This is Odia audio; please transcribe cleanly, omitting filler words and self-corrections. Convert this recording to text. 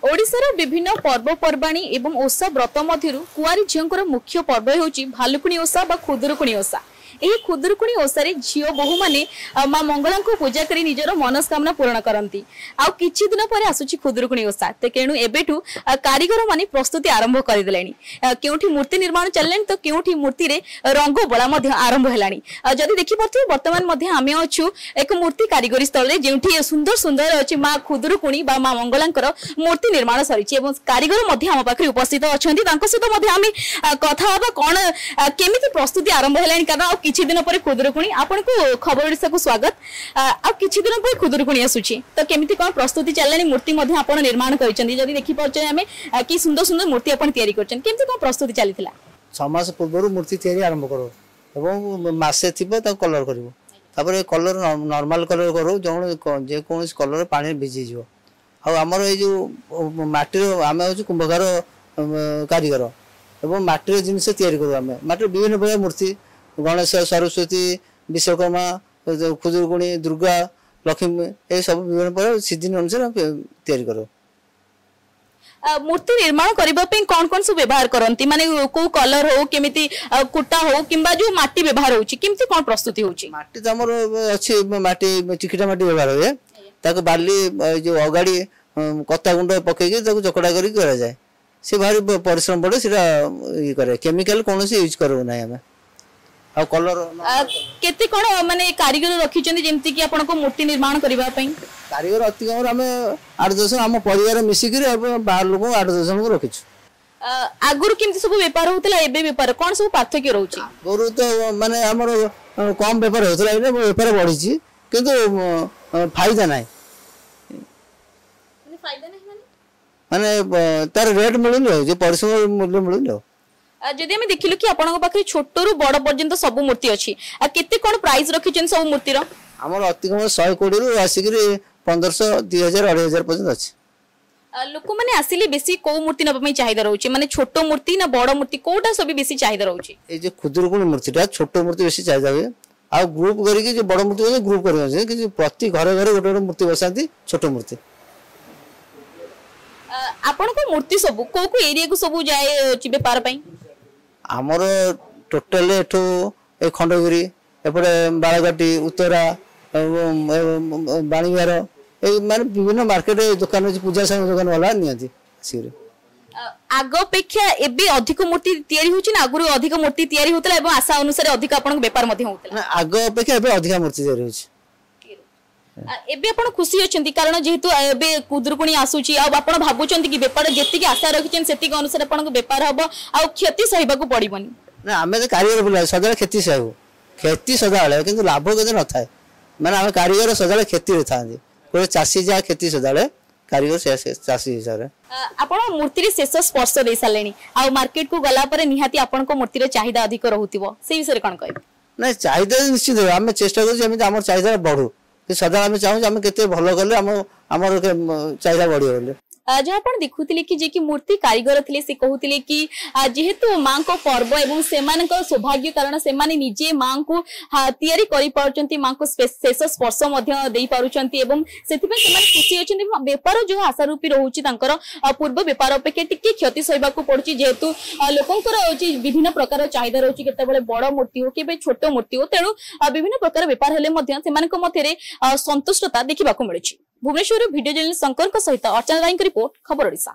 ଓଡ଼ିଶାର ବିଭିନ୍ନ ପର୍ବପର୍ବାଣୀ ଏବଂ ଓଷା ବ୍ରତ ମଧ୍ୟରୁ କୁଆଁରୀ ଝିଅଙ୍କର ମୁଖ୍ୟ ପର୍ବ ହେଉଛି ଭାଲୁକୁଣି ଓଷା ବା ଖୁଦୁରୁକୁଣି ଓଷା। ଏହି ଖୁଦୁରୁକୁଣି ଓଷାରେ ଝିଅ ବୋହୂମାନେ ମା ମଙ୍ଗଳାଙ୍କୁ ପୂଜା କରି ନିଜର ମନସ୍କାମନା ପୂରଣ କରନ୍ତି। ଆଉ କିଛି ଦିନ ପରେ ଆସୁଛି ଖୁଦୁରୁକୁଣି ଓଷା, ତେଣୁ ଏବେଠୁ କାରିଗର ମାନେ ପ୍ରସ୍ତୁତି ଆରମ୍ଭ କରିଦେଲେଣି। କେଉଁଠି ମୂର୍ତ୍ତି ନିର୍ମାଣ ଚାଲିଲାଣି ତ କେଉଁଠି ମୂର୍ତ୍ତିରେ ରଙ୍ଗ ବୋଳା ମଧ୍ୟ ଆରମ୍ଭ ହେଲାଣି। ଯଦି ଦେଖିପାରୁଥିବେ, ବର୍ତ୍ତମାନ ମଧ୍ୟ ଆମେ ଅଛୁ ଏକ ମୂର୍ତ୍ତି କାରିଗରୀ ସ୍ଥଳରେ, ଯେଉଁଠି ସୁନ୍ଦର ସୁନ୍ଦର ଅଛି ମା ଖୁଦୁରୁକୁଣି ବା ମା ମଙ୍ଗଳାଙ୍କର ମୂର୍ତ୍ତି ନିର୍ମାଣ ସରିଛି ଏବଂ କାରିଗର ମଧ୍ୟ ଆମ ପାଖରେ ଉପସ୍ଥିତ ଅଛନ୍ତି। ତାଙ୍କ ସହିତ ମଧ୍ୟ ଆମେ କଥା ହବା କଣ କେମିତି ପ୍ରସ୍ତୁତି ଆରମ୍ଭ ହେଲାଣି, କାରଣ ଆଉ କିଛି ଦିନ ପରେ ଖୁଦୁରୁକୁଣି। ଆପଣଙ୍କୁ ଖବର ଓଡ଼ିଶାକୁ ସ୍ୱାଗତ। ଆଉ କିଛି ଦିନ ପରେ ଖୁଦୁରୁକୁଣି ଆସୁଛି, ତ କେମିତି କଣ ପ୍ରସ୍ତୁତି ଚାଲିଲାଣି? ମୂର୍ତ୍ତି ମଧ୍ୟ ଆପଣ ନିର୍ମାଣ କରିଛନ୍ତି, ଯଦି ଦେଖିପାରୁଛନ୍ତି ଆମେ କି ସୁନ୍ଦର ସୁନ୍ଦର ମୂର୍ତ୍ତି ଆପଣ ତିଆରି କରିଛନ୍ତି। କେମିତି କଣ ପ୍ରସ୍ତୁତି ଚାଲିଥିଲା? 6 ମାସ ପୂର୍ବରୁ ମୂର୍ତ୍ତି ତିଆରି ଆରମ୍ଭ କରୁ ଏବଂ ମାସେ ଥିବ ତାକୁ କଲର କରିବୁ। ତାପରେ କଲର ନର୍ମାଲ କଲର କରୁ, ଯେଉଁ ଯେକୌଣସି କଲର ପାଣିରେ ଭିଜିଯିବ। ଆଉ ଆମର ଏଇ ଯେଉଁ ମାଟିର, ଆମେ ହେଉଛୁ କୁମ୍ଭକାର କାରିଗର ଏବଂ ମାଟିର ଜିନିଷ ତିଆରି କରୁ। ଆମେ ମାଟିର ବିଭିନ୍ନ ପ୍ରକାର ମୂର୍ତ୍ତି, ଗଣେଶ, ସରସ୍ୱତୀ, ବିଶ୍ୱକର୍ମା, ଖୁଦୁରୁକୁଣୀ, ଦୁର୍ଗା, ଲକ୍ଷ୍ମୀ, ଏସବୁ ବିଭିନ୍ନ ପ୍ରକାର ସିଜିନ୍ ଅନୁସାରେ ଆମେ ତିଆରି କରୁ। ମୂର୍ତ୍ତି ନିର୍ମାଣ କରିବା ପାଇଁ କଣ କଣ ସବୁ ବ୍ୟବହାର କରନ୍ତି? ମାନେ କୋଉ କଲର ହଉ, କେମିତି କୁଟା ହଉ କିମ୍ବା ଯୋଉ ମାଟି ବ୍ୟବହାର ହଉଛି, କେମିତି କଣ ପ୍ରସ୍ତୁତି ହଉଛି? ମାଟି ତ ଆମର ଅଛି, ମାଟି ଚିକିଟା ମାଟି ବ୍ୟବହାର ହୁଏ। ତାକୁ ବାଲି, ଏ ଯୋଉ ଅଗାଡ଼ି, କତା ଗୁଣ୍ଡ ପକେଇକି ତାକୁ ଚକଟା କରିକି କରାଯାଏ। ସେ ଭାରି ପରିଶ୍ରମ ପଡ଼େ ସେଟା ଇଏ କରେ। କେମିକାଲ କୌଣସି ୟୁଜ୍ କରିବୁ ନାହିଁ ଆମେ। ଆଉ କଲର କେତେ କଣ ମାନେ କାରିଗର ରଖିଛନ୍ତି, ଯେମିତି କି ଆପଣଙ୍କ ମୂର୍ତ୍ତି ନିର୍ମାଣ କରିବା ପାଇଁ? କାରିଗର ଅତି କମରେ ଆମେ 8-10 ଆମ ପରିବାର ମିଶିକିରି ଏବଂ ବାହାର ଲୋକଙ୍କୁ 8-10 ଜଣଙ୍କୁ ରଖିଛୁ। ଆଗରୁ କେମିତି ସବୁ ବେପାର ହଉଥିଲା, ଏବେ ବେପାର କଣ ସବୁ ପାର୍ଥକ୍ୟ ରହୁଛି? ଆଗରୁ ତ ମାନେ ଆମର କମ ବେପାର ହଉଥିଲା, ଏବେ ବେପାର ବଢିଛି, କିନ୍ତୁ ଫାଇଦା ନାହିଁ। ଫାଇଦା ନାହିଁ ମାନେ? ମାନେ ତାର ରେଟ୍ ମିଳୁନି, ଆଉ ଯେ ପରିଶ୍ରମ ମୂଲ୍ୟ ମିଳୁନି। ଆଉ ଯଦି ଆମେ ଦେଖିଲୁ କି ଆପଣଙ୍କ ପାଖରେ ଛୋଟରୁ ବଡ ପର୍ଯ୍ୟନ୍ତ ସବୁ ମୂର୍ତ୍ତି ଅଛି, ଆଉ କେତେ କଣ ପ୍ରାଇସ୍ ରଖିଛନ୍ତି ସବୁ ମୂର୍ତ୍ତିର? ଆମର ଅତି କମ 120ରୁ ଆସିକିରି 1500, 2000, 2500 ପର୍ଯ୍ୟନ୍ତ ଅଛି। ଲୋକମାନେ ଆସିଲେ ବେଶୀ କୋଉ ମୂର୍ତ୍ତି ନେବା ପାଇଁ ଚାହିଦା ରହୁଛି? ମାନେ ଛୋଟ ମୂର୍ତ୍ତି ନା ବଡ ମୂର୍ତ୍ତି, କୋଉଟା ସବୁ ବେଶୀ ଚାହିଦା ରହୁଛି? ଏଇ ଯୋଉ ଖୁଦୁରୁକୁଣୀ ମୂର୍ତ୍ତିଟା, ଛୋଟ ମୂର୍ତ୍ତି ବେଶୀ ଚାହିଦା ହୁଏ। ଆଉ ଗ୍ରୁପ କରିକି ଯୋଉ ବଡ ମୂର୍ତ୍ତି ଗ୍ରୁପ କରିକି, କିନ୍ତୁ ପ୍ରତି ଘରେ ଘରେ ଗୋଟେ ଗୋଟେ ମୂର୍ତ୍ତି ବସାନ୍ତି, ଛୋଟ ମୂର୍ତ୍ତି। ଆପଣଙ୍କ ମୂର୍ତ୍ତି ସବୁ କୋଉ କୋଉ ଏରିଆକୁ ସବୁ ଯାଏ ବେପାର ପାଇଁ? ଆମର ଟୋଟାଲ ଏଠୁ ଏ ଖଣ୍ଡଗିରି, ଏପଟେ ବାଳକାଟି, ଉତ୍ତରା ଏବଂ ବାଣୀବିହାର, ଏଇ ମାନେ ବିଭିନ୍ନ ମାର୍କେଟ ଦୋକାନ ଅଛି, ପୂଜା ସାମଗ୍ରୀ ଦୋକାନ ବାଲା ନିଅନ୍ତି ଆସିକିରି। ଆଗ ଅପେକ୍ଷା ଏବେ ଅଧିକ ମୂର୍ତ୍ତି ତିଆରି ହଉଛି ନା ଆଗରୁ ଅଧିକ ମୂର୍ତ୍ତି ତିଆରି ହଉଥିଲା ଏବଂ ଆଶା ଅନୁସାରେ ଅଧିକ ଆପଣଙ୍କ ବେପାର ମଧ୍ୟ ହଉଥିଲା? ନା, ଆଗ ଅପେକ୍ଷା ଏବେ ଅଧିକା ମୂର୍ତ୍ତି ତିଆରି ହଉଛି। ଏବେ ଆପଣ ଖୁସି ଅଛନ୍ତି, କାରଣ ଯେହେତୁ ଏବେ ଖୁଦୁରୁକୁଣି ଆସୁଛି, ଆଉ ଆପଣ ଭାବୁଛନ୍ତି କି ବେପାର ଯେତିକି ଆଶା ରଖିଛନ୍ତି ସେତିକି ଅନୁସାରେ ଆପଣଙ୍କ ବେପାର ହବ ଆଉ କ୍ଷତି ସହିବାକୁ ପଡିବନି? ନା, ଆମେ ତ କାରିଗର ପିଲା, ସଦାବେଳେ କ୍ଷତି ସହିବୁ। କ୍ଷତି ସଦାବେଳେ, କିନ୍ତୁ ଲାଭ କେତେ ନଥାଏ। ମାନେ ଆମେ କାରିଗର ସଦାବେଳେ କ୍ଷତିରେ ଥାନ୍ତି। ଗୋଟେ ଚାଷୀ ଯାହା କ୍ଷତି ସଦାବେଳେ, କାରିଗର ସେୟା ଚାଷୀ ହିସାବରେ। ଆପଣ ମୂର୍ତ୍ତିରେ ଶେଷ ସ୍ପର୍ଶ ଦେଇ ସାରିଲେଣି, ଆଉ ମାର୍କେଟକୁ ଗଲା ପରେ ନିହାତି ଆପଣଙ୍କ ମୂର୍ତ୍ତିର ଚାହିଦା ଅଧିକ ରହୁଥିବ, ସେଇ ବିଷୟରେ କଣ କହିବେ? ନାଇଁ, ଚାହିଦା ନିଶ୍ଚିତ ଆମେ ଚେଷ୍ଟା କରୁଛୁ ଯେମିତି ଆମର ଚାହିଦା ବଢୁ। ସଦାବେଳେ ଆମେ ଚାହୁଁଛୁ ଆମେ କେତେ ଭଲ କଲେ ଆମର ଚାହିଦା ବଢିବ ବୋଲି। ଯାହା ଆପଣ ଦେଖୁଥିଲେ କି ଯିଏକି ମୂର୍ତ୍ତି କାରିଗର ଥିଲେ, ସେ କହୁଥିଲେ କି ଯେହେତୁ ମାଙ୍କ ପର୍ବ ଏବଂ ସେମାନଙ୍କ ସୌଭାଗ୍ୟ, କାରଣ ସେମାନେ ନିଜେ ମାଙ୍କୁ ତିଆରି କରିପାରୁଛନ୍ତି, ମାଙ୍କୁ ଶେଷ ସ୍ପର୍ଶ ମଧ୍ୟ ଦେଇପାରୁଛନ୍ତି ଏବଂ ସେଥିପାଇଁ ସେମାନେ ଖୁସି ଅଛନ୍ତି। ଏବଂ ବେପାର ଯୋଉ ଆଶା ରୂପୀ ରହୁଛି ତାଙ୍କର, ପୂର୍ବ ବେପାର ଅପେକ୍ଷା ଟିକେ କ୍ଷତି ସହିବାକୁ ପଡୁଛି, ଯେହେତୁ ଲୋକଙ୍କର ହଉଛି ବିଭିନ୍ନ ପ୍ରକାର ଚାହିଦା ରହୁଛି, କେତେବେଳେ ବଡ ମୂର୍ତ୍ତି ହଉ କେବେ ଛୋଟ ମୂର୍ତ୍ତି ହଉ, ତେଣୁ ବିଭିନ୍ନ ପ୍ରକାର ବେପାର ହେଲେ ମଧ୍ୟ ସେମାନଙ୍କ ମଧ୍ୟରେ ସନ୍ତୁଷ୍ଟତା ଦେଖିବାକୁ ମିଳୁଛି। ଭୁବନେଶ୍ୱରରୁ ଭିଡିଓ ଜର୍ଣ୍ଣାଲିଷ୍ଟ ଶଙ୍କରଙ୍କ ସହିତ ଅର୍ଚ୍ଚନା ରାୟଙ୍କ ରିପୋର୍ଟ, ଖବର ଓଡ଼ିଶା।